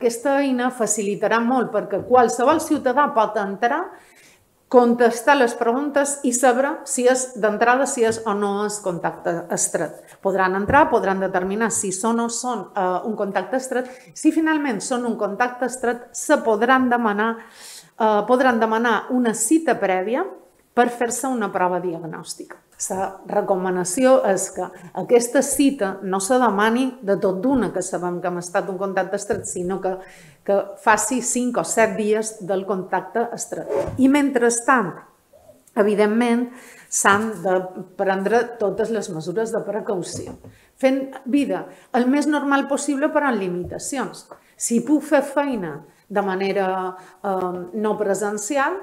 Aquesta eina facilitarà molt perquè qualsevol ciutadà pot entrar, contestar les preguntes i saber si és d'entrada, si és o no és contacte estret. Podran entrar, podran determinar si són o són un contacte estret. Si finalment són un contacte estret, se podran demanar una cita prèvia per fer-se una prova diagnòstica. La recomanació és que aquesta cita no se demani de tot d'una, que sabem que hem estat un contacte estret, sinó que faci 5 o 7 dies del contacte estret. I mentrestant, evidentment, s'han de prendre totes les mesures de precaució, fent vida el més normal possible però amb limitacions. Si puc fer feina de manera no presencial,